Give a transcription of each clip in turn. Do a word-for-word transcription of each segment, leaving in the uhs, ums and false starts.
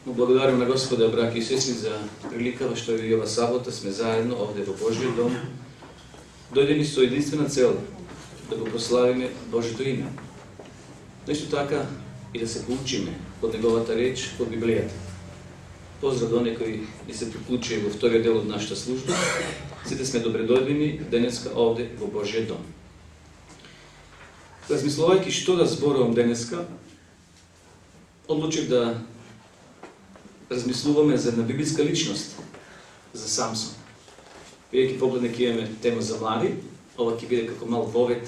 Му благодарим на Господа, браки и сестри, за приликава што и ова сабота сме заедно овде во Божиот дом, дојдени со единствена цел да го прославиме Божито име. Но исто така и да се поучиме од неговата реч, од Библијата. Поздрав до некои и се приклучи во вториот дел од нашата служба. Сите сме добредојдени денеска овде во Божиот дом. Размислувајќи што да зборувам денеска, одлучив да размислуваме за една библиска личност, за Самсон. Бидејќи погледне ќе имаме тема за млади, ова ќе биде како мал вовет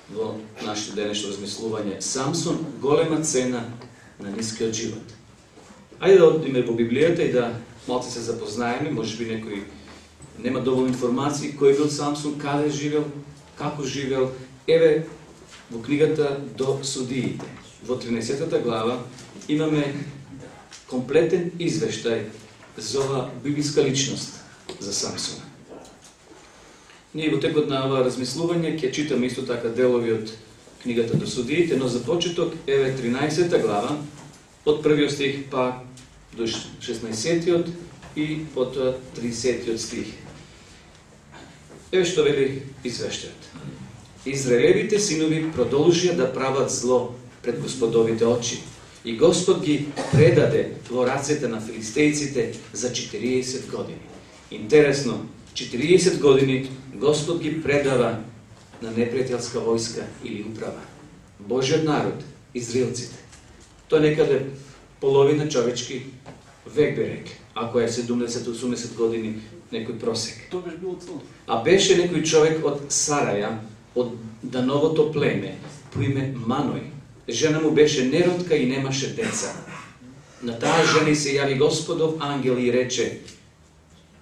во нашето денешно размислување. Самсон, голема цена на нискиот живот. Ајде да одиме во Библијата и да малце се запознаеме, може би некој нема доволно информации кој бил Самсон, каде живел, како живел. Еве во книгата до Судиите, во тринаесеттата глава, имаме комплетен извештај за ова библиска личност за Самсона. Ние во текот на ова размислување ќе читаме исто така делови од книгата до Судиите, но за почеток еве тринаесеттата глава, од првиот стих па до шеснаесеттиот и потоа тридесеттиот стих. Еве што вели извештајот. Израелевите синови продолжија да прават зло пред Господовите очи. И Господ ги предаде во рацете на филистејците за четириесет години. Интересно, четириесет години Господ ги предава на непријателска војска или управа. Божиот народ, израелците. Тоа некаде половина човечки век би рек, ако е седумдесет до осумдесет години некој просек. Тоа беше било цело. А беше некој човек од Сараја, од Дановото племе, по име Маној. Жена му беше неродка и немаше деца. На таа жена се јави Господов ангел и рече: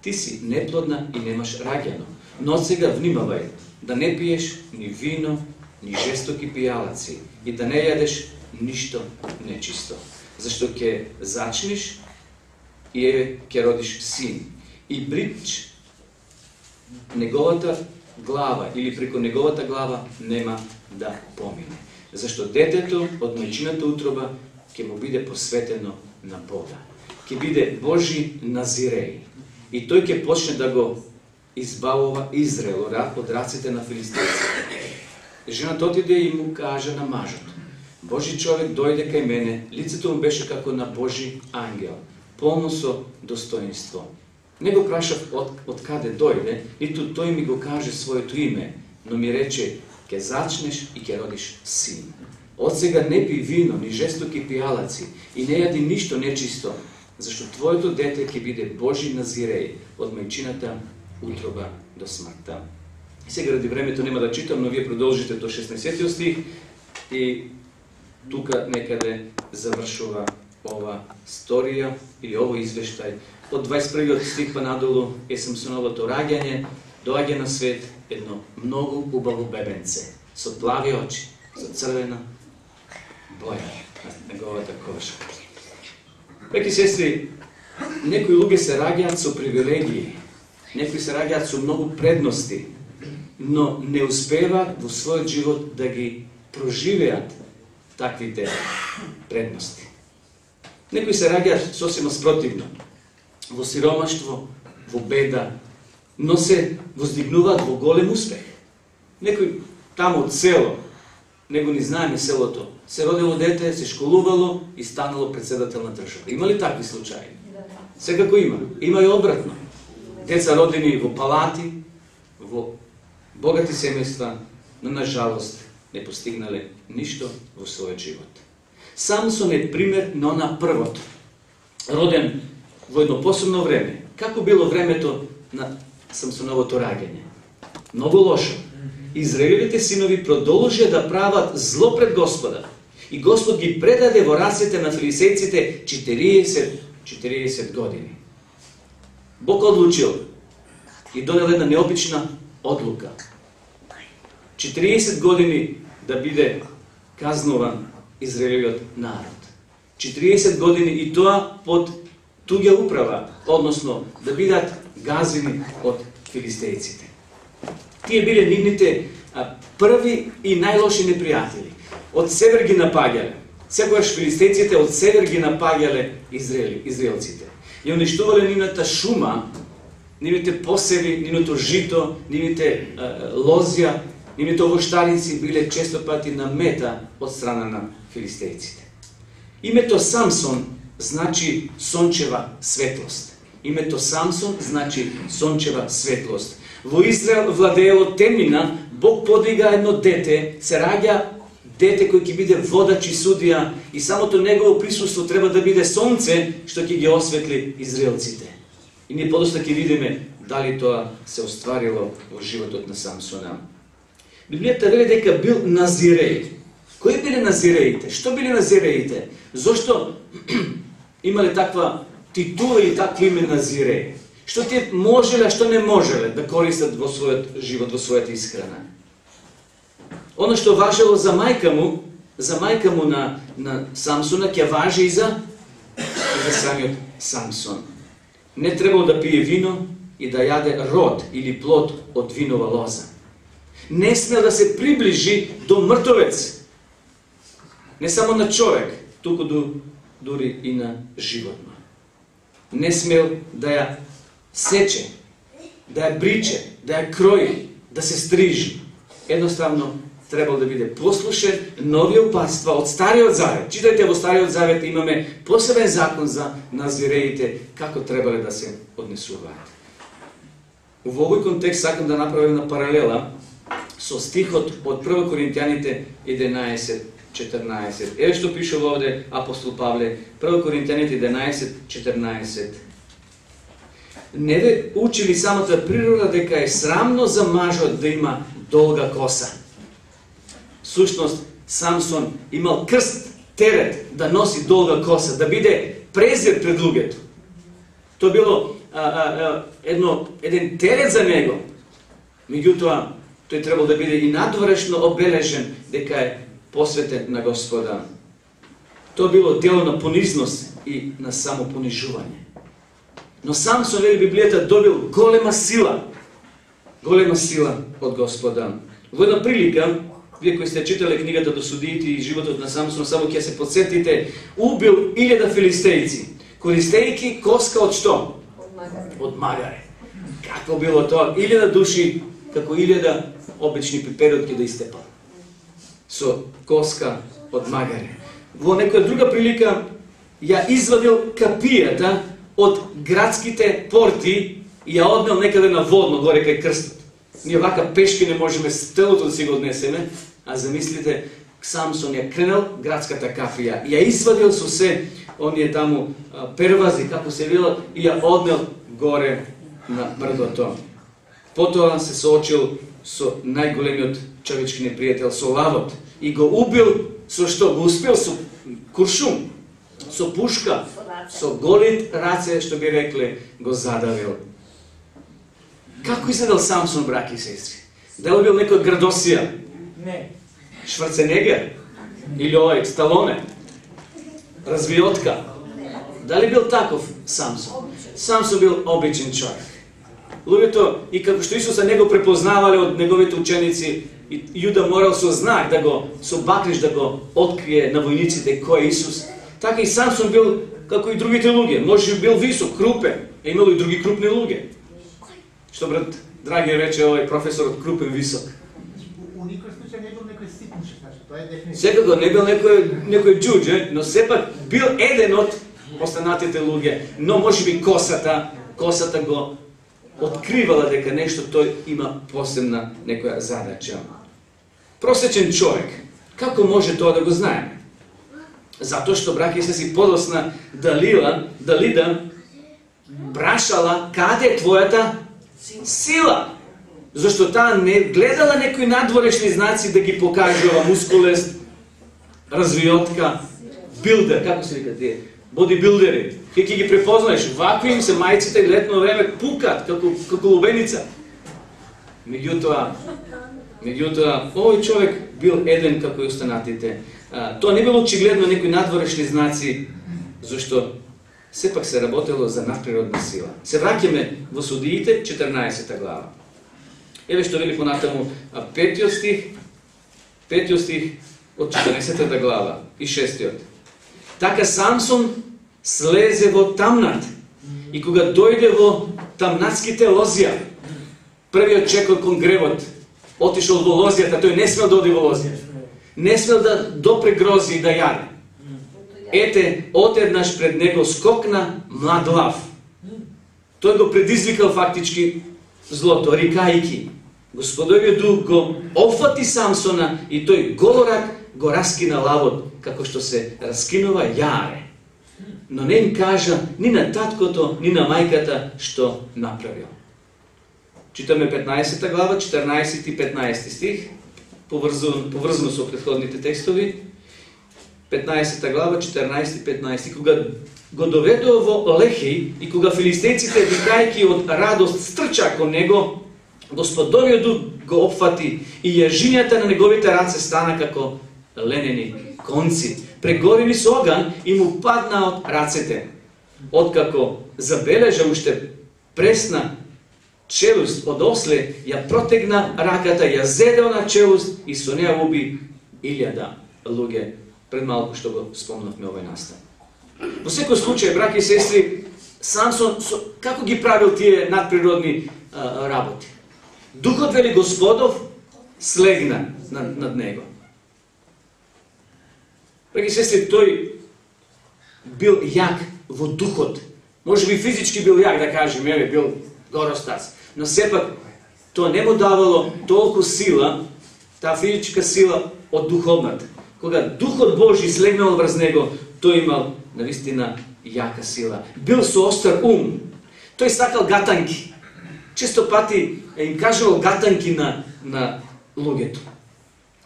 ти си неплодна и немаш раѓано, но сега внимавај да не пиеш ни вино, ни жестоки пијалаци и да не јадеш ништо нечисто, зашто ќе зачнеш и еве ќе родиш син. И брич неговата глава или преку неговата глава нема да помине. Зашто детето од мајчината утроба ќе му биде посветено на Бога. Ќе биде Божи назиреј. И тој ќе почне да го избавува Израел од раците на филистејците. Жената отиде и му кажа на мажот: Божи човек дојде кај мене, лицето му беше како на Божи ангел, полно со достоинство. Не го прашав од, од каде дојде, ниту тој ми го каже своето име, но ми рече: ќе зачнеш и ќе родиш син. Од сега не пи вино, ни жестоки пијалаци и не јади ништо нечисто, зашто твоето дете ќе биде Божи назиреј од мајчината утроба до смртта. И сега ради времето нема да читам, но вие продолжите до шеснаесеттиот стих и тука некаде завршува ова сторија или ово извештај. Од дваесет и првиот стих па надолу е Самсоновото раѓање, доаѓа на свет едно многу убаво бебенце, со плави очи, со црвена боја на неговата кожа. Браќи и сестри, некои луѓе се раѓаат со привилегии, некои се раѓаат со многу предности, но не успеваат во својот живот да ги проживеат таквите предности. Некои се раѓаат сосема спротивно, во сиромаштво, во беда, но се воздигнуваат во голем успех. Некој таму од село, него ни знаеме селото, се родило дете, се школувало и станало председател на држава. Има ли такви случаи? Секако има. Има и обратно. Деца родени во палати, во богати семејства, но на жалост не постигнале ништо во својот живот. Самсон е пример на она првото, роден во едно посебно време. Како било времето на Самсоновото раѓање? Многу лошо. Израелевите синови продолжија да прават зло пред Господа. И Господ ги предаде во рацете на филистејците четириесет години. Бог одлучил и донел една необична одлука. четириесет години да биде казнуван Израелевиот народ. четириесет години и тоа под туѓа управа, односно да бидат газени од филистејците. Тие биле нивните а, први и најлоши непријатели. Од север ги напаѓале, Секогаш филистејците од север ги напаѓале Израели, израелците. И уништувале нивната шума, нивните посеви, нивното жито, нивните uh, лозја, нивните овоштарици биле често пати на мета од страна на филистејците. Името Самсон значи сончева светлост. Името Самсон значи сончева светлост. Во Израел владеело темнина, Бог подига едно дете, се раѓа дете кој ќе биде водач и судија, и самото негово присуство треба да биде сонце што ќе ги осветли израелците. И ние подоста ќе видиме дали тоа се остварило во животот на Самсона. Библијата вели дека бил назиреј. Кои биле назиреите? Што биле назиреите? Зошто имале таква титула и такво име назиреј? Што те можеле, а што не можеле да користат во својот живот, во својата исхрана? Оно што важело за мајка му, за мајка му на, на Самсона, ќе важи и за, и за самиот Самсон. Не требало да пие вино и да јаде род или плод од винова лоза. Не смел да се приближи до мртовец. Не само на човек, туку до, дури и на животно. Не смел да ја сече, да ја бриче, да ја крои, да се стрижи. Едноставно требало да биде послушен. Нови опатства од Стариот Завет. Читајте во Стариот Завет, имаме посебен закон за назиреите, како требале да се однесуваат. Во овој контекст сакам да направим на паралела со стихот од прво Коринтијаните еденаесет четрнаесет. Еве што пише овде апостол Павле, прво Коринтијаните еденаесет четрнаесет. Не ве учили самата природа дека е срамно за мажот да има долга коса. Сушност, Самсон имал крст, терет да носи долга коса, да биде презир пред луѓето. Тоа било а, а, а, едно, еден терет за него. Меѓутоа, тој требал да биде и надворешно обележен дека е посветен на Господа. Тоа било дело на понизност и на самопонижување. Но Самсон, вели Библијата, добил голема сила. Голема сила од Господа. Во една прилика, вие кои сте читале книгата до Судиите и животот на Самсон, само ќе се подсетите, убил илјада филистејци, користејќи коска од што? Од магаре. Од магаре. Какво било тоа? Илјада души, како илјада обични пиперутки да истепал. Со коска од магаре. Во некоја друга прилика ја извадил капијата од градските порти и ја однел некаде на водно, горе кај крстот. Ние вака пешки не можеме стелото да си го однесеме, а замислите, Самсон ја кренел градската капија, ја извадил со се оние таму первази, како се вела, и ја однел горе на брдото. Потоа се соочил со најголемиот човечки непријател, со лавот, и го убил со што? Го успел со куршум, со пушка, со голи раце, што би рекле, го задавил. Како изгледал Самсон, браќи и сестри? Дали бил некој Градосија? Не. Шварценегер? Или овој Сталоне? Развиотка? Дали бил таков Самсон? Самсон бил обичен човек. Луѓето, и како што Исуса не го препознавале од неговите ученици, и Јуда морал со знак да го, со бакниш да го открие на војниците кој е Исус, така и Самсон бил како и другите луѓе. Може би бил висок, крупен, а имало и други крупни луѓе. Што брат Драги рече овој професорот, крупен, висок. У никој случај не бил некој ситниче, значи, тоа е дефиниция. Секако не бил некој некој џуџе, но сепак бил еден од останатите луѓе, но можеби косата, косата го откривала дека нешто тој има посебна некоја задача. Просечен човек, како може тоа да го знаеме? Затоа што браќи се си подосна Далила, Далида прашала каде е твојата сила. Зашто таа не гледала некои надворешни знаци да ги покажува мускулест, развиотка, билдер, како се вика тие, бодибилдери. Ке ќе ги препознаеш, вакви им се мајците летно време пукат како како лубеница. Меѓутоа, меѓутоа овој човек бил еден како и останатите. А, тоа не било очигледно некои надворешни знаци, зашто сепак се работело за надприродна сила. Се враќаме во Судиите, четрнаесета глава. Еве што вели понатаму петиот стих, петиот стих, од четрнаесеттата глава и шестиот. Така Самсон слезе во тамнат и кога дојде во тамнатските лозија, првиот чекор кон гревот, отишол во лозијата, тој не смел да оди во лозија. Не смел да допре грози и да јаде. Ете, отеднаш пред него скокна млад лав. Тој го предизвикал фактички злото, рикајки. Господовиот дух го опфати Самсона и тој голорак го раскина лавот, како што се раскинува јаре. Но не им кажа ни на таткото, ни на мајката што направил. Читаме петнаесетта глава, четрнаесети и петнаесети стих, поврзано, поврзано со претходните текстови. петнаесетта глава, четрнаесети и петнаесети. Кога го доведува во Лехеј и кога филистејците викајќи од радост стрча кон него, Господовиот дух го опфати и јажињата на неговите раце стана како ленени конци, прегорени со оган и му падна од рацете. Откако забележа уште пресна челуст од осле, ја протегна раката, ја зедел на челуст и со неа уби илјада луѓе. Пред малку што го спомнавме овој настан. Во секој случај, браќи и сестри, Самсон со, како ги правил тие надприродни а, работи? Духот, вели Господов, слегна над, над него. Браќи и сестри, тој бил јак во духот. Може би физички бил јак, да кажем, еве, бил горостас. Но сепак, тоа не му давало толку сила, таа физичка сила од духовната. Кога Духот Божи слегнал врз него, тој имал навистина јака сила. Бил со остар ум. Тој сакал гатанки. Често пати им кажувал гатанки на, на луѓето.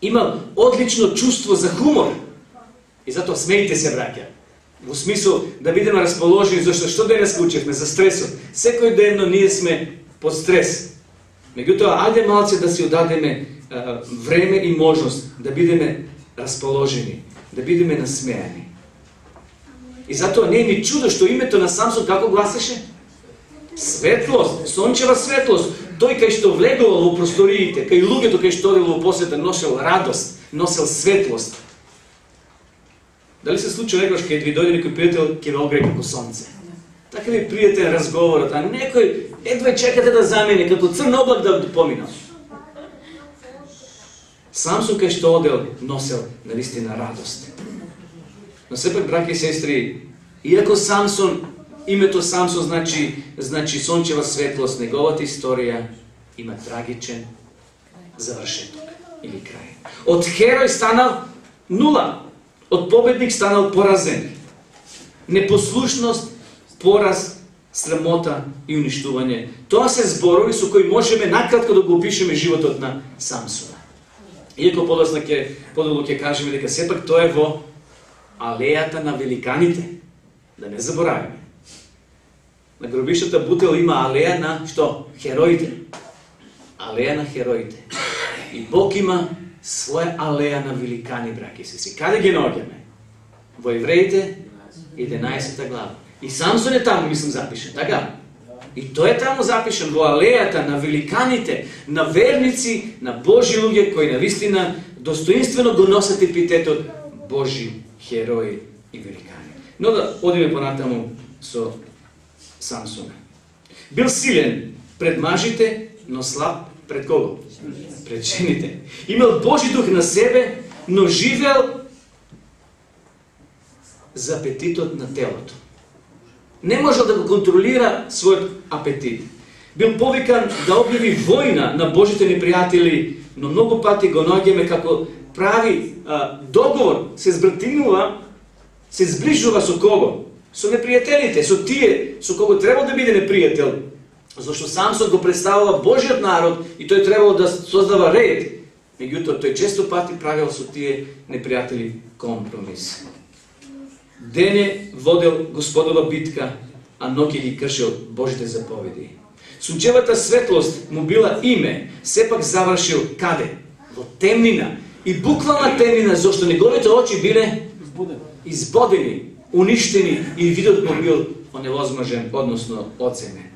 Имал одлично чувство за хумор. И затоа смејте се, браќа. Во смисол да бидеме расположени, зашто што денес учевме за стресот. Секој денно ние сме под стрес. Меѓутоа, ајде малце да си одадеме а, време и можност да бидеме расположени, да бидеме насмејани. И затоа не е ни чудо што името на Самсон како гласеше? Светлост, сончева светлост. Тој кај што влегувал во просториите, кај луѓето кај што одел во посета, носел радост, носел светлост. Дали се случи некојаш кај ви дојде некој пријател ќе ве огрее како сонце? Така ви пријатен разговорот, а некој едва чекате да замине како црн облак да помина. Самсон кај што одел носел навистина радост. Но сепак, браќи и сестри, иако Самсон, името Самсон значи значи сончева светлост, неговата историја има трагичен завршеток или крај. Од херој станал нула, од победник станал поразен. Непослушност, пораз, срамота и уништување. Тоа се зборови со кои можеме накратко да го опишеме животот на Самсона. Иако подоцна ќе подолго ќе кажеме дека сепак тоа е во алејата на великаните. Да не забораваме. На гробиштата Бутел има алеја на што? Хероите. Алеја на хероите. И Бог има своја алеја на великани, браќи и сестри. Каде ги наоѓаме? Во Евреите единаесетта глава. И Самсон е таму, мислам, запишен, така? И тој е таму запишен во алејата на великаните, на верници, на Божи луѓе кои навистина достоинствено го носат епитетот Божи херои и великани. Но да одиме понатаму со Самсона. Бил силен пред мажите, но слаб пред кого? Пред жените. Имал Божи дух на себе, но живеел за апетитот на телото. Не можел да го контролира својот апетит. Бил повикан да објави војна на Божите непријатели, но многу пати го наоѓаме како прави а, договор, се збратинува, се зближува со кого? Со непријателите, со тие со кого требал да биде непријател. Зашто Самсон го представува Божиот народ и тој требал да создава ред. Меѓутоа, тој често пати правил со тие непријатели компромис. Дене водел Господова битка, а ноќе ги кршил Божите заповеди. Сончевата светлост му била име, сепак завршил каде? Во темнина. И буквална темнина, зашто неговите очи биле избодени, уништени и видот му бил оневозможен, односно оценен.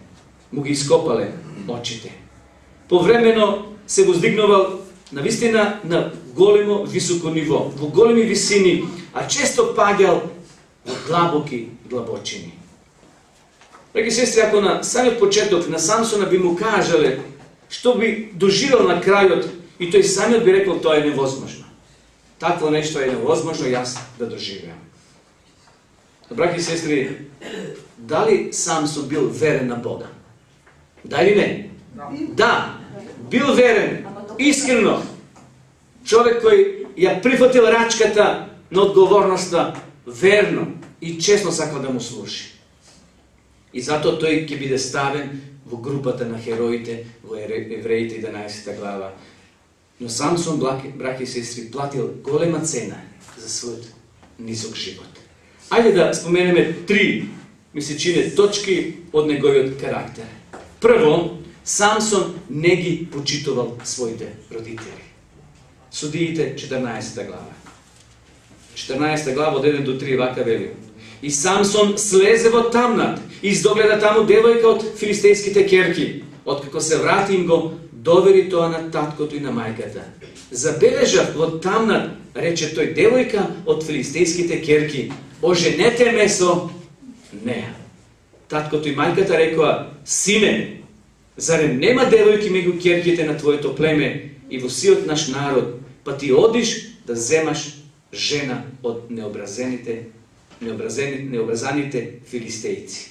Му ги ископале очите. Повремено се воздигнувал навистина на големо високо ниво, во големи висини, а често паѓал во длабоки длабочини. Драги сестри, ако на самиот почеток на Самсона би му кажале што би доживел на крајот, и тој самиот би рекол тоа е невозможно. Такво нешто е невозможно јас да доживеам. Браќи и сестри, дали Самсон бил верен на Бога? Да или не? Да, бил верен, искрено. Човек кој ја прифатил рачката на одговорноста верно и честно сакал да му служи. И затоа тој ќе биде ставен во групата на хероите во Евреите единаесета глава. Но Самсон, браќи и сестри, платил голема цена за својот низок живот. Ајде да споменеме три, ми се чине, точки од неговиот карактер. Прво, Самсон не ги почитувал своите родители. Судиите четрнаесета глава. четрнаесета глава од еден до три вака вели. И Самсон слезе во тамнат и издогледа таму девојка од филистејските керки. Откако се врати им го, довери тоа на таткото и на мајката. Забележав во тамнат, рече тој, девојка од филистејските керки, оженете ме со неа. Таткото и мајката рекоа, сине, зарем нема девојки меѓу керките на твоето племе и во сиот наш народ, па ти одиш да земаш жена од необразените, необразените, необразаните филистејци.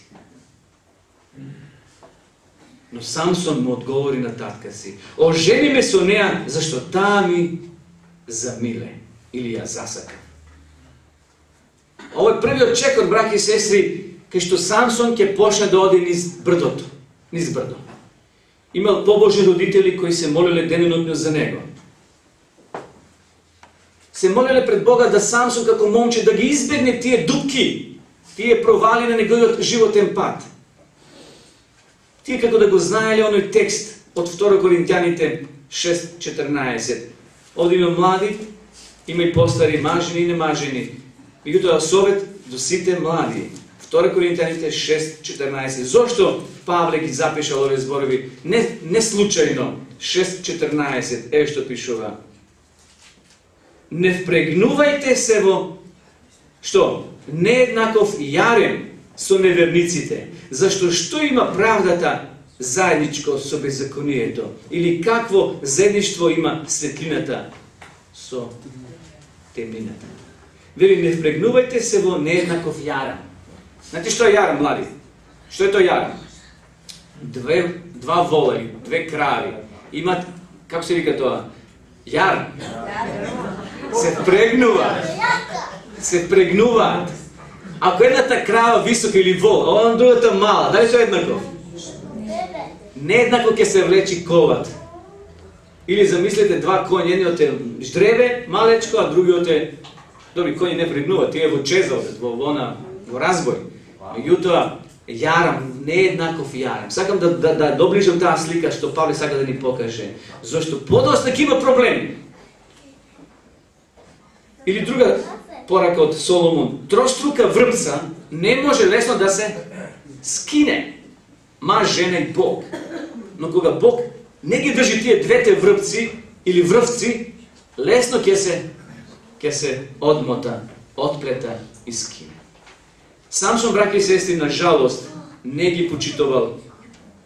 Но Самсон му одговори на татка си, ожени ме со неа, зашто таа ми замиле или ја засака. Овој првиот чекор, браќи и сестри, кај што Самсон ќе почне да оди низ брдото, низ брдо. Имал побожни родители кои се молеле денонокно за него. Се молеле пред Бога да Самсон како момче да ги избегне тие дупки, тие провали на неговиот животен пат. Тие како да го знаеле оној текст од втора Коринтјаните шест четрнаесет. Овде има млади, има и постари, мажени и немажени. Меѓутоа совет до сите млади. втора Коринтјаните шест четрнаесет. Зошто Павле ги запишал овие зборови? Не, не случајно. шест четрнаесет. Еве што пишува. Не впрегнувајте се во што? Нееднаков јарем со неверниците. Зашто што има правдата заедничко со беззаконието? Или какво заедништво има светлината со темнината? Вели, не впрегнувајте се во нееднаков јарам. Знаете што е јарам, млади? Што е тоа јарам? Две, два волари, две крави. Имат, како се вика тоа? Јар. Се впрегнуваат. Се впрегнуваат. Ако едната крава висока или вол, а он другата мала, дали тоа е еднаков? Нееднакво ќе се влечи коват. Или замислете два коња, едниот е ждребе, малечко, а другиот е... Добри, коњи не прегнуваат, тие во чеза одат, во, во, во разбој. Меѓутоа, јарам, нееднаков јарам. Сакам да, да, да доближам таа слика што Павле сака да ни покаже. Зошто подоста ќе има проблеми. Или друга порака од Соломон. Троstruка врпца не може лесно да се скине. Маж, жена и Бог. Но кога Бог не ги држи тие двете врпци или врвци, лесно ќе се ќе се одмота, отплета и скине. Самсон, браќи и сестри, на жалост не ги почитувал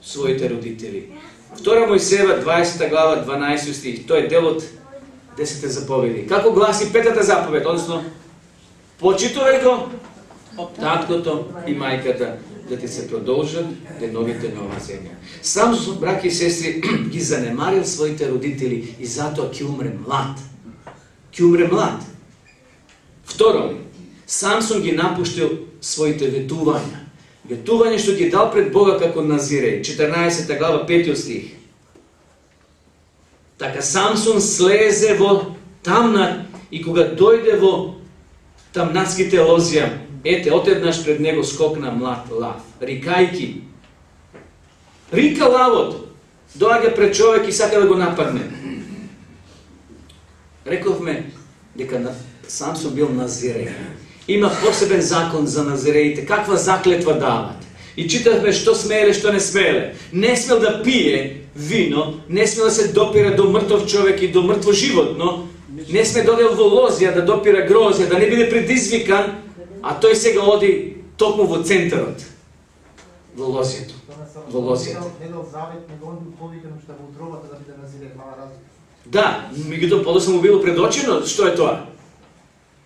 своите родители. втора Мојсеева дваесета глава дванаесети стих. Тој е дел од десетте заповеди. Како гласи петата заповед, односно почитувај го таткото и мајката, да ти се продолжат деновите на ова земја. Самсон, браќи и сестри, ги занемарил своите родители и затоа ќе умре млад. Ќе умре млад. Второ, Самсон ги напуштил своите ветувања. Ветување што ги дал пред Бога како назиреј. четрнаесета глава петиот стих. Така Самсон слезе во тамнат и кога дојде во тамнатските лозија, ете, отеднаш пред него скокна млад лав, рикајки. Рика лавот, доаѓа пред човек и сака да го нападне. Рековме дека Самсон бил назиреј. Има посебен закон за назиреите. Каква заклетва дават? И читавме што смееле, што не смееле. Не смел да пие вино, не смел да се допира до мртов човек и до мртво животно, не сме додел во лозија да допира грозја, да не биде предизвикан, а тој сега оди токму во центарот, во лозијето. Во лозијето. Недел завет, него он бил повикан што во утробата да биде назиде глава разум. Да, меѓутоа подоцна му било предочено што е тоа.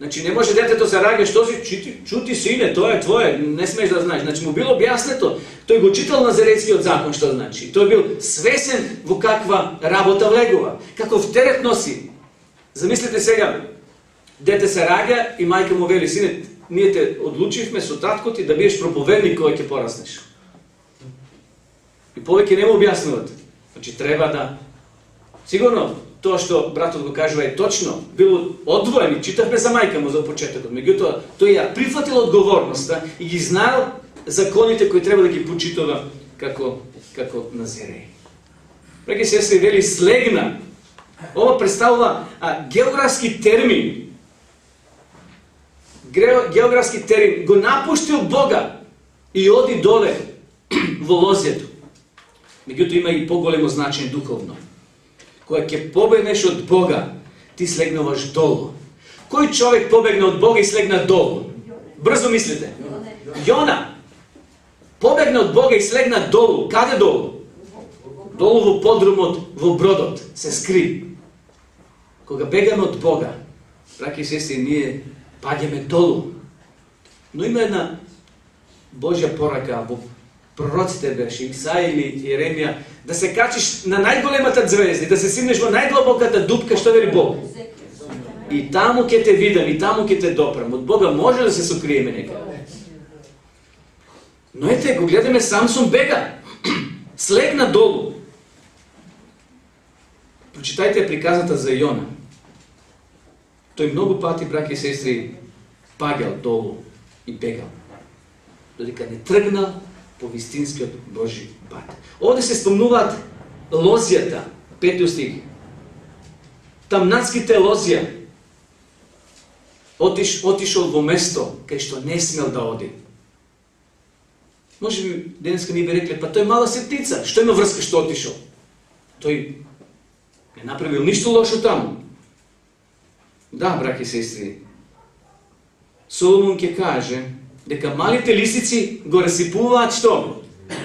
Значи не може детето се раѓа, што си чути, чути сине, тоа е твое, не смееш да знаеш. Значи му било објаснето. Тој го читал Назаретскиот закон што значи. Тој бил свесен во каква работа влегува, каков терет носи. Замислете сега, дете се раѓа и мајка му вели: сине, ние те одлучивме со татко ти да бидеш проповедник кога ќе пораснеш. И повеќе не му објаснуват. Значи треба да сигурно тоа што братот го кажува е точно, било одвоен и читавме за мајка му за почетокот. Меѓутоа тој ја прифатил одговорноста и ги знаел законите кои треба да ги почитува како како Назиреј. Преки се се вели слегна. Ова представува а, географски термин. Географски термин. Го напуштил Бога и оди доле во лозијето. Меѓутоа има и поголемо значење духовно. Кога ќе побегнеш од Бога, ти слегнуваш долу. Кој човек побегна од Бога и слегна долу? Брзо мислите. Јона побегна од Бога и слегна долу. Каде долу? Долу во подрумот, во бродот, се скри. Кога бегаме од Бога, браќи и сестри, ние паѓаме долу. Но има една Божја порака во пророците беше, Исаја или Јеремија, да се качиш на најголемата звезда и да се симнеш во најдлабоката дупка, што вели Бог. И таму ќе те видам, и таму ќе те допрам. Од Бога може да се сокриеме некаде. Но ете, го гледаме, Самсон бега. Слегна долу. Прочитајте приказната за Јона. Тој многу пати, браќи и сестри, паѓал долу и бегал. Додека не тргнал по вистинскиот Божи пат. Овде се спомнуваат лозијата, пети стих. Тамнатските лозија. Отиш, отишол во место кај што не смел да оди. Може би денеска ни би рекле, па тој мала сетница, што има врска што отишол? Тој не направил ништо лошо таму. Да, браќи и сестри, Соломон ќе каже дека малите лисици го расипуваат што?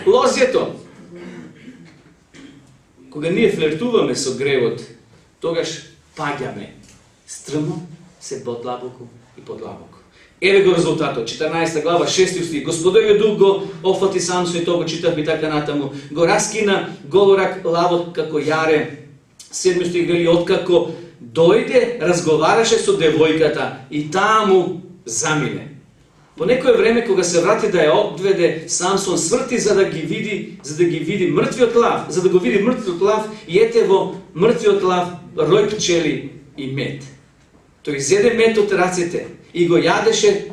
Лозието. Кога ние флиртуваме со гревот, тогаш паѓаме стрмно, се подлабоко и подлабоко. Еве го резултатот, четрнаесета глава, шести стих. Господовиот дух го офати Самсон и тоа го читав и така натаму. Го раскина голорак лавот како јаре. Седми стих вели, откако дојде, разговараше со девојката и таму замине. По некое време кога се врати да ја одведе, Самсон сврти за да ги види, за да ги види мртвиот лав, за да го види мртвиот лав и ете во мртвиот лав рој пчели и мед. Тој зеде мед од рацете и го јадеше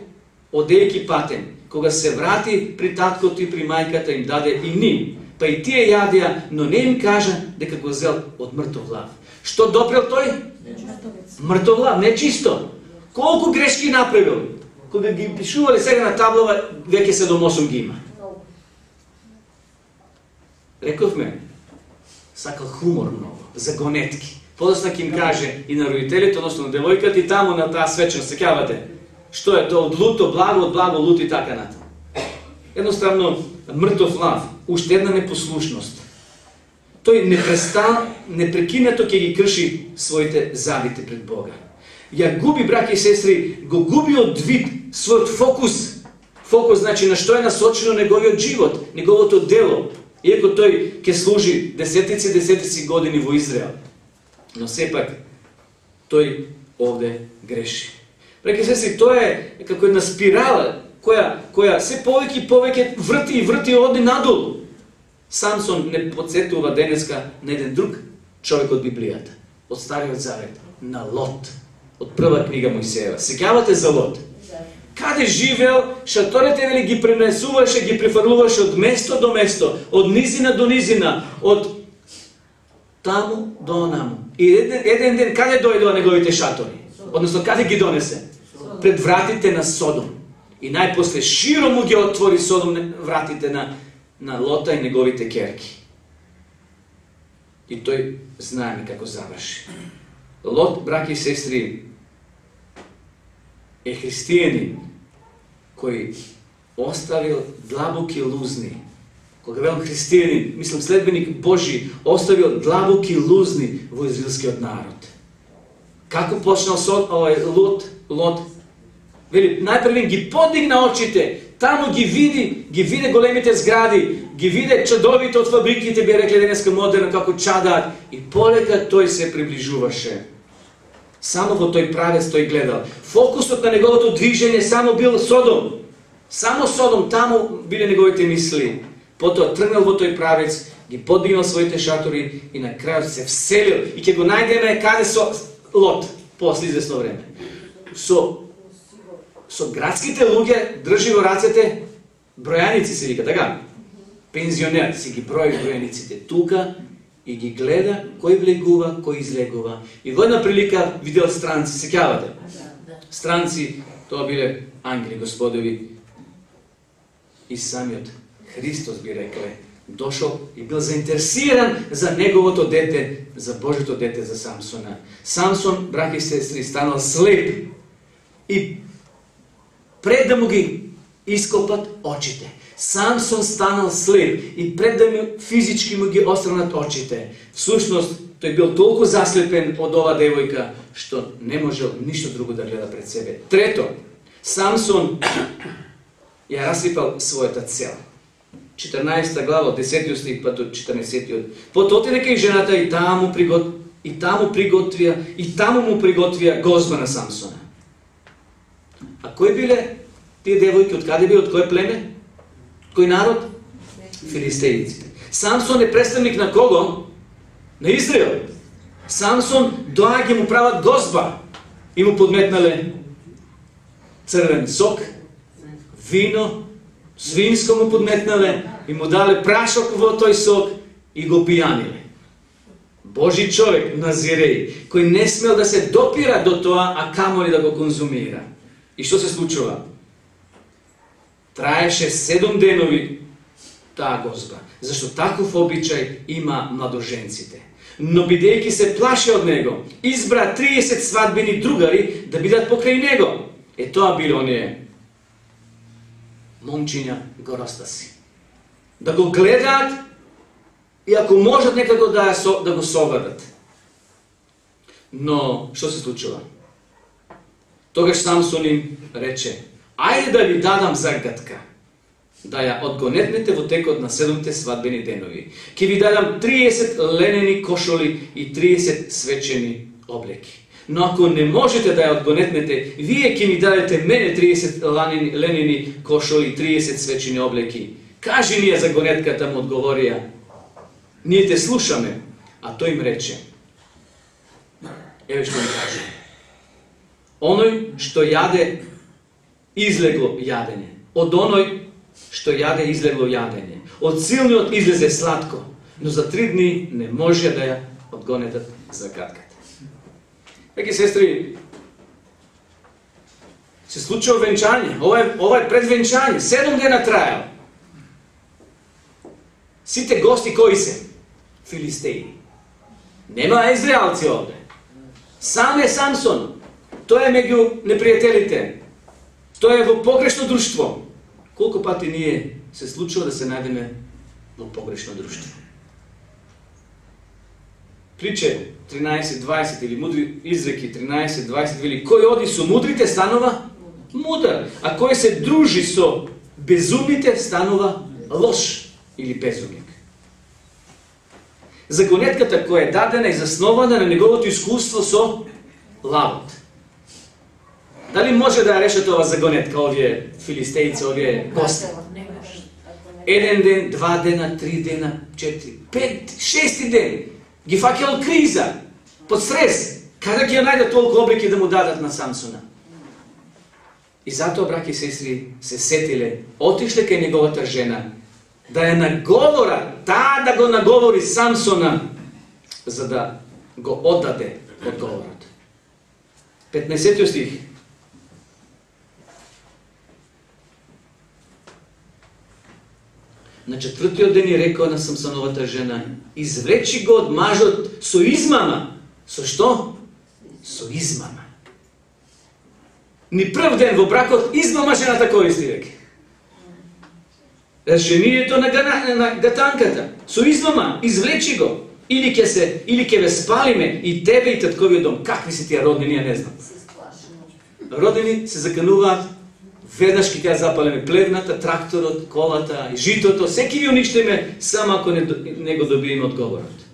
одејќи патен. Кога се врати при таткото и при мајката, им даде и ним. Па и тие јадеа, но не им кажа дека го зел од мртов лав. Што допрел тој? Мртов лав, нечисто. Колку грешки направил? Кога ги пишувале сега на таблава, веќе седум осум ги има. Рековме, сакал хумор многу, загонетки. Подосна ќе им каже и на родителите, односно на девојката, и таму на таа свечност, сеќавате, што е тоа од луто, благо, од благо, лут и така натаму. Едноставно, мртов лав, уште една непослушност. Тој непрестан, непрекинато ќе ги крши своите завите пред Бога. Ја губи, браќи и сестри, го губи од вид својот фокус. Фокус значи на што е насочено неговиот живот, неговото дело. Иако тој ќе служи десетици и десетици години во Израел. Но сепак, тој овде греши. Браќи и сестри, тоа е како една спирала, која, која се повеќе и повеќе врти и врти и оди надолу. Самсон не подсетува денеска на еден друг човек од Библијата, од Стариот Завет, на Лот, од прва книга Мојсеева. Сеќавате за Лот? Каде живеел, шаторите вели ги пренесуваше, ги префрлуваше од место до место, од низина до низина, од таму до онаму. И еден, еден ден каде дојдоа неговите шатори? Односно, каде ги донесе? Пред вратите на Содом. И најпосле широ му ги отвори Содом вратите на, на Лота и неговите керки. И тој знаеме како заврши. Лот, браќи и сестри, е христијанин кој оставил длабоки лузни. Кога велам христијанин, мислам следбеник Божи, оставил длабоки лузни во израелскиот народ. Како почнал со овој Лот, Лот? Вели, најпрвен ги подигна очите, таму ги види, ги виде големите згради, ги виде чадовите од фабриките, би рекле денеска модерно како чадаат, и полека тој се приближуваше. Само во тој правец тој гледал. Фокусот на неговото движење само бил Содом. Само Содом, таму биле неговите мисли. Потоа тргнал во тој правец, ги подигнал своите шатори и на крајот се вселил. И ќе го најдеме каде со Лот, после известно време. Со со градските луѓе држи во рацете бројаници, се вика, така? Пензионер, си ги брои бројаниците тука и ги гледа кој влегува, кој излегува. И во една прилика видел странци, сеќавате? Странци, тоа биле ангели Господови. И самиот Христос би рекле, дошол и бил заинтересиран за неговото дете, за Божето дете, за Самсона. Самсон, браќи и сестри, станал слеп и пред да му ги ископат очите. Самсон станал слеп и пред да му физички му ги остранат очите. Всушност, тој бил толку заслепен од ова девојка, што не можел ништо друго да гледа пред себе. Трето, Самсон ја расипал својата цел. четрнаесета глава, десетиот стих, па до четрнаесеттиот. Потоа отиде кај жената и таму пригот и таму приготвија и таму му приготвија гозба на Самсона. А кои биле тие девојки, од каде биле, од кој племе? Кој народ? Филистејците. Самсон е представник на кого? На Израел. Самсон доаѓа му прават гозба и му подметнале црвен сок, вино, свинско му подметнале и му дале прашок во тој сок и го пијаниле. Божи човек, Назиреј, кој не смел да се допира до тоа, а камоли да го конзумира. И што се случува? Траеше седум денови таа гозба, зашто таков обичај има младоженците. Но бидејќи се плаше од него, избра триесет свадбени другари да бидат покрај него. Е тоа било оние момчиња горостаси. Да го гледаат и ако можат некако да, со, да го совадат. Но што се случува? Тогаш Самсон им рече: ајде да ви дадам загадка, да ја одгонетнете во текот на седумте свадбени денови. Ке ви дадам триесет ленени кошоли и триесет свечени облеки. Но ако не можете да ја одгонетнете, вие ќе ми дадете мене триесет ленени кошоли и триесет свечени облеки. Кажи ни ја за гонетката, му одговорија. Ние те слушаме. А тој им рече: еве што ми каже. Оној што јаде, излегло јадење. Од оној што јаде, излегло јадење. Од силниот излезе сладко, но за три дни не може да ја одгонетат загадката. Еки сестри, се случува венчање. Ова е, ова е пред венчање. Седум дена трајал. Сите гости кои се? Филистеи. Нема израелци овде. Сам е Самсон. Тој е меѓу непријателите. Тој е во погрешно друштво. Колку пати ние се случува да се најдеме во погрешно друштво? Приче тринаесет дваесет или мудри изреки тринаесет дваесет вели: кој оди со мудрите станува мудар, а кој се дружи со безумните станува лош или безумник. Загонетката која е дадена и заснована на неговото искуство со лавот. Дали може да ја решат ова загонетка, овие филистејци, овие гости? Еден ден, два дена, три дена, четири, пет, шести ден. Ги фаќал криза, под стрес. Каде ќе ја најдат толку облеки да му дадат на Самсона? И затоа, браќи и сестри, се сетиле, отишле кај неговата жена, да ја наговора, таа да го наговори Самсона, за да го оддаде одговорот. петнаесеттиот стих. На четвртиот ден и рекоа на Самсоновата жена: извлечи го од мажот со измама. Со што? Со измама. Ни прв ден во бракот измама жената користи веќе. Решението на, гана, на гатанката. Со измама, извлечи го. Или ќе се, или ќе ве спалиме и тебе и татковиот дом. Какви си тие роднини, ја не знам. Роднини се закануваат, веднаш ќе ја запалиме плевната, тракторот, колата, житото, секи ви уништиме, само ако не, не го добиеме одговорот.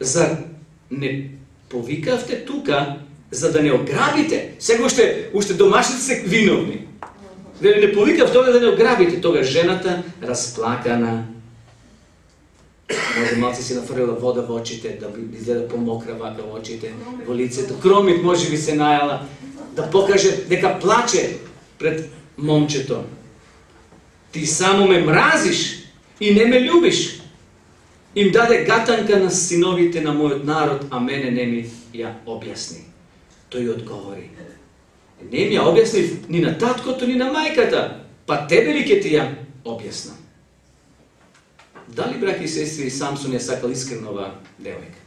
Зар не повикавте тука, за да не ограбите? Сега уште, уште домашните се виновни. Вели, не повикав тога да не ограбите. Тога жената, расплакана, може малци си нафрлила вода во очите, да би изгледа помокра вака во очите, во лицето. Кромит може би се најала, да покаже дека плаче пред момчето. Ти само ме мразиш и не ме љубиш. Им даде гатанка на синовите на мојот народ, а мене не ми ја објасни. Тој одговори: не ми ја објасни ни на таткото, ни на мајката, па тебе ли ќе ти ја објаснам? Дали, браки и сестри, Самсон ја сакал искрено оваа девојка?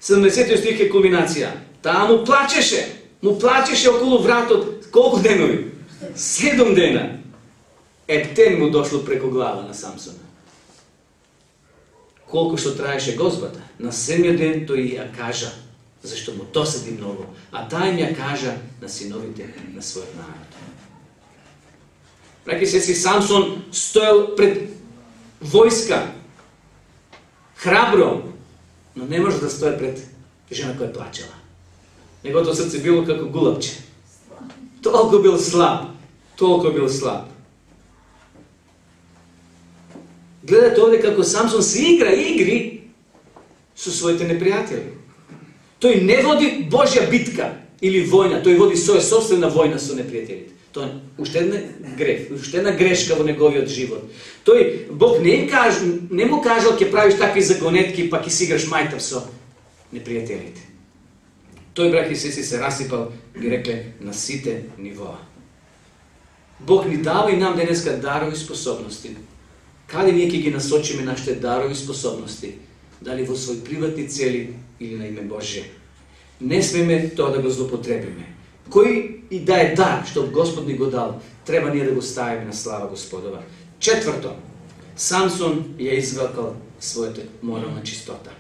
седумдесетиот стих е кулминација. Таа му плачеше, му плачеше околу вратот. Колку денови? Седум дена. Ептен му дошло преку глава на Самсона. Колку што траеше гозбата, на седмиот ден тој ја кажа, зашто му досади многу, а таа им ја кажа на синовите на својот народ. Браки и сестри, Самсон стоел пред војска, храбро, но не може да стои пред жена која плачела. Неговото срце било како гулапче. Толку бил слаб, толку бил слаб. Гледате овде како Самсон се игра игри со своите непријатели. Тој не води Божја битка или војна, тој води своја собствена војна со непријателите. Тоа е уште една греф, уште една грешка во неговиот живот. Тој, Бог не, каж, не му кажал ќе правиш такви загонетки, па ќе си играш мајтав со непријателите. Тој, браки и сестри, се расипал, ги рекле, на сите нивоа. Бог ни дава и нам денеска дарови способности. Каде ние ќе ги насочиме нашите дарови способности? Дали во своји приватни цели или на име Божие? Не смеме тоа да го злоупотребиме. Кој и да е дар што Господ ни го дал, треба ние да го ставиме на слава Господова. Четврто, Самсон ја извакал својата морална чистота.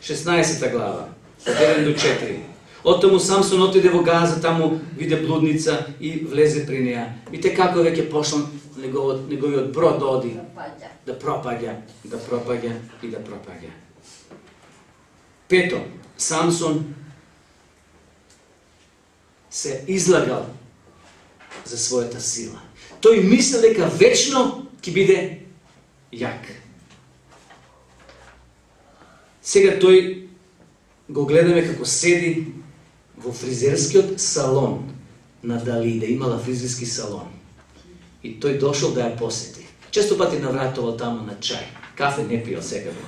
шеснаесета глава, од еден до четири. Оттаму Самсон отиде во Газа, таму виде блудница и влезе при неја. Видите како веќе почнал неговиот, неговиот брод да оди, да пропаѓа, да пропаѓа и да пропаѓа. Пето, Самсон се излагал за својата сила. Тој мисли дека вечно ќе биде јак. Сега тој го гледаме како седи во фризерскиот салон на Далида. Имала фризерски салон. И тој дошол да ја посети. Често пати навратувал таму на чај. Кафе не пиел секако.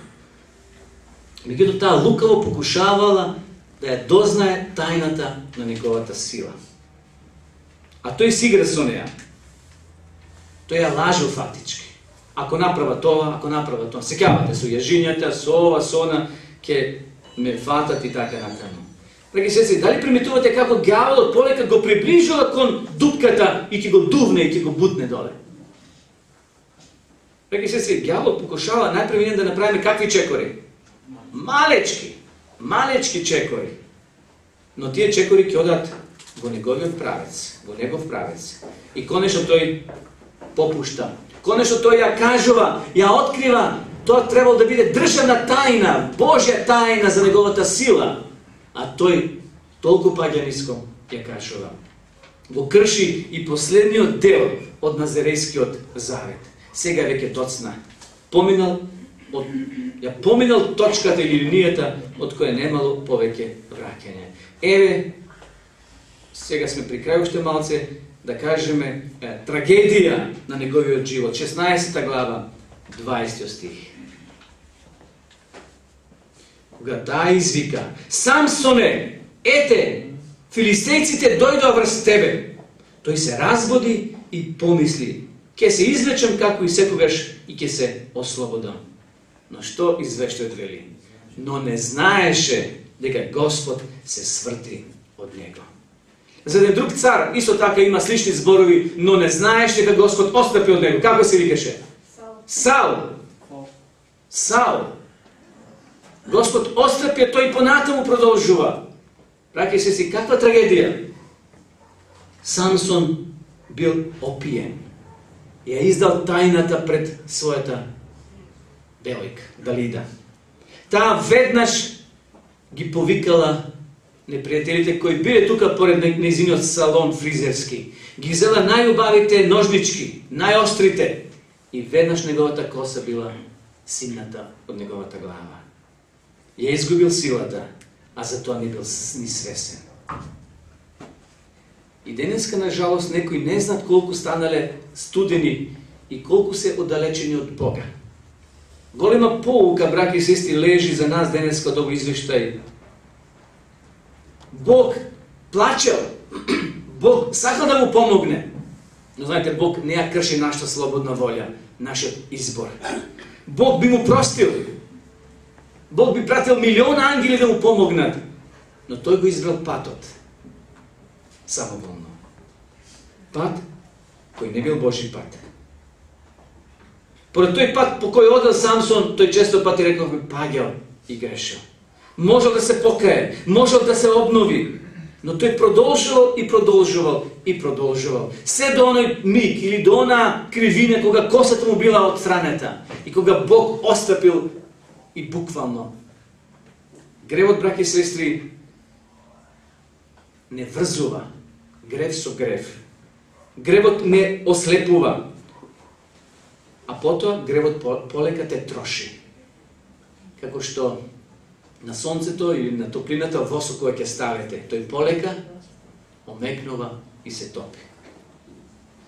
Меѓутоа таа лукаво покушавала да ја дознае тајната на неговата сила. А тој си игра со неја. Тој ја лажил фактички. Ако направа тоа, ако направа тоа, сеќавате со јажињата, со ова, со она, ќе ме фатат и така натаму. Драги сестри, дали приметувате како ѓаволот полека го приближува кон дупката и ќе го дувне и ќе го бутне доле? Драги сестри, ѓаволот покушава најпрв да направиме какви чекори? Малечки, малечки чекори. Но тие чекори ќе одат во неговиот правец, во негов правец. И конечно тој попушта. Конечно тој ја кажува, ја открива, тоа требало да биде државна тајна, Божја тајна за неговата сила. А тој толку паѓа ниско ја кажува. Го крши и последниот дел од Назарејскиот завет. Сега веќе доцна. Поминал од ја поминал точката или линијата од која немало повеќе враќање. Еве, сега сме при крај уште малце, да кажеме е, трагедија на неговиот живот. шеснаесета глава, дваесети стих. Кога таа извика: Самсоне, ете, филистејците дојдоа врз тебе. Тој се разбуди и помисли: Ке се извлечам како и секогаш и ке се ослободам. Но што извештајот вели? Но не знаеше дека Господ се сврти од него. За еден друг цар исто така има слични зборови, но не знаеш дека Господ отстапи од него. Како се викаше? Саул. Саул. Господ отстапи, а тој понатаму продолжува. Браќи се си, каква трагедија? Самсон бил опиен. Ја издал тајната пред својата девојка, Далида. Таа веднаш ги повикала непријателите кои биле тука поред нејзиниот салон фризерски. Ги взела најубавите ножнички, најострите, и веднаш неговата коса била симната од неговата глава. Ја изгубил силата, а за тоа не бил ни свесен. И денеска, на жалост, некои не знаат колку станале студени и колку се оддалечени од Бога. Голема поука, браќи и сестри, лежи за нас денеска од овој извештај. Бог плачел, Бог сакал да му помогне, но знаете, Бог не ја крши нашата слободна волја, нашиот избор. Бог би му простил, Бог би пратил милион ангели да му помогнат, но тој го избрал патот. Самоволно. Пат кој не бил Божи пат. Поред тој пат по кој одел Самсон, тој често пати рековме паѓал и грешил. Можел да се покае, можел да се обнови, но тој продолжувал и продолжувал и продолжувал. Се до оној миг или до она кривина кога косата му била отстранета и кога Бог остапил и буквално. Гревот, браќи и сестри, не врзува грев со грев. Гревот не ослепува. А потоа гревот полека те троши. Како што на сонцето или на топлината восок која ќе ставите, тој полека омекнува и се топи.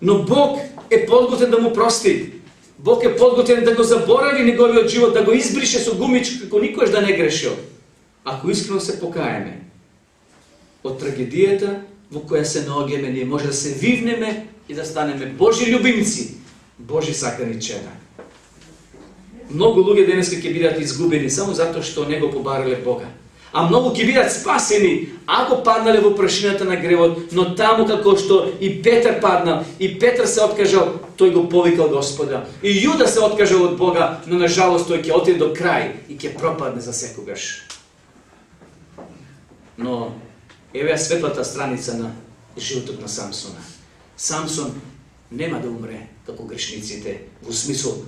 Но Бог е подготвен да му прости. Бог е подготвен да го заборави неговиот живот, да го избрише со гумич како никош да не грешил. Ако искрено се покаеме од трагедијата во која се наоѓаме, ние може да се вивнеме и да станеме Божи љубимци, Божи сакани чеда. Многу луѓе денеска ќе бидат изгубени само затоа што не го побарале Бога. А многу ќе бидат спасени ако паднале во прашината на гревот, но таму како што и Петар паднал, и Петар се откажал, тој го повикал Господа. И Јуда се откажал од Бога, но на жалост тој ќе отиде до крај и ќе пропадне за секогаш. Но еве ја светлата страница на животот на Самсона. Самсон нема да умре како грешниците, во смисол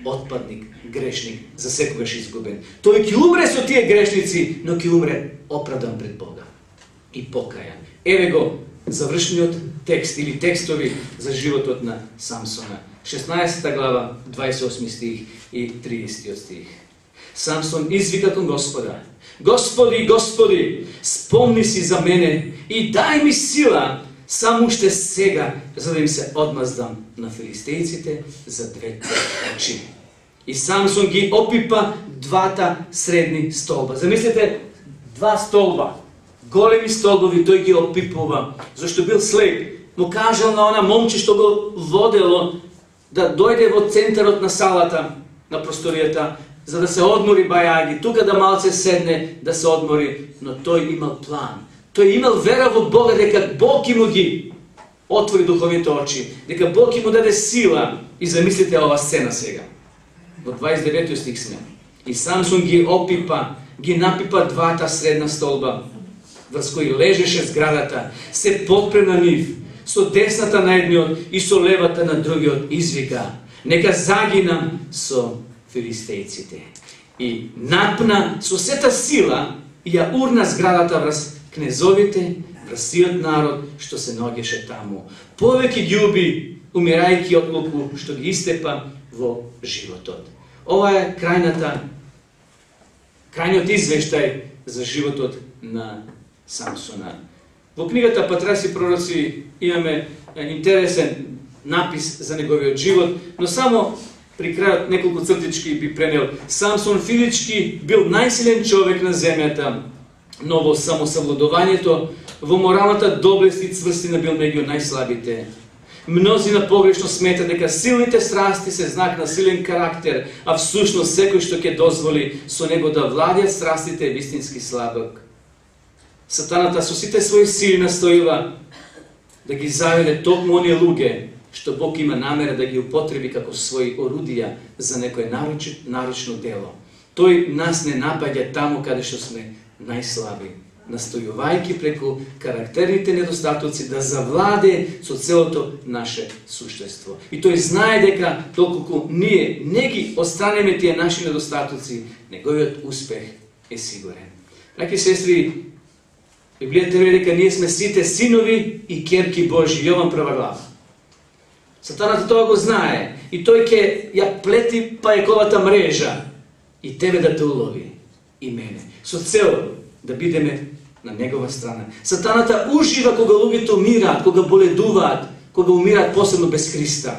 отпадник, грешник, за секогаш изгубен. Тој ќе умре со тие грешници, но ќе умре оправдан пред Бога и покајан. Еве го завршниот текст или текстови за животот на Самсона. шеснаесета глава, дваесет и осми стих и тридесети стих. Самсон извика кон Господа: Господи, Господи, спомни си за мене и дај ми сила само уште сега, за да им се одмаздам на филистејците за двете очи. И Самсон ги опипа двата средни столба. Замислете, два столба, големи столбови, тој ги опипува, зашто бил слеп. Му кажал на она момче што го водело да дојде во центарот на салата, на просторијата, за да се одмори бајаги, тука да малце седне, да се одмори, но тој имал план. Тој имал вера во Бога дека Бог ќе му ги отвори духовните очи, дека Бог ќе му даде сила. И замислите ова сцена сега. Во дваесет и деветти стих сме. И Самсон ги опипа, ги напипа двата средна столба, врз кои лежеше зградата, се подпре на нив, со десната на едниот и со левата на другиот, извика: нека загинам со филистејците. И напна со сета сила и ја урна зградата врз кнезовите, врз сиот народ што се наоѓаше таму. Повеќе ги уби, умирајќи од луку што ги истепа во животот. Ова е крајната, крајниот извештај за животот на Самсона. Во книгата Патраси и пророци имаме интересен напис за неговиот живот, но само при крајот неколку цртички би пренел. Самсон физички бил најсилен човек на земјата, но во самосавладувањето, во моралната доблест и цврстина бил меѓу најслабите. Мнозина погрешно смета дека силните страсти се знак на силен карактер, а всушност секој што ќе дозволи со него да владеат страстите е вистински слабок. Сатаната со сите своји сили настојува да ги заведе токму оние луѓе што Бог има намера да ги употреби како своји орудија за некое нарочно дело. Тој нас не напаѓа таму каде што сме најслаби, настојувајќи преку карактерните недостатоци да завладе со целото наше суштество. И тој знае дека доколку ние не ги останеме тие наши недостатоци, неговиот успех е сигурен. Браќи и сестри, Библијата вели дека ние сме сите синови и ќерки Божји, Јован прва глава. Сатаната тоа го знае и тој ќе ја плети пајковата мрежа и тебе да те улови и мене, со цел да бидеме на негова страна. Сатаната ужива кога луѓето умираат, кога боледуваат, кога умираат посебно без Христа.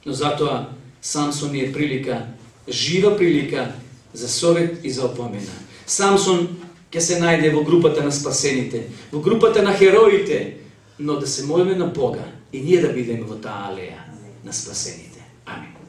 Но затоа Самсон е прилика, жива прилика за совет и за опомена. Самсон ќе се најде во групата на спасените, во групата на хероите, но да се молиме на Бога и ние да бидеме во таа алеја на спасените. Амин.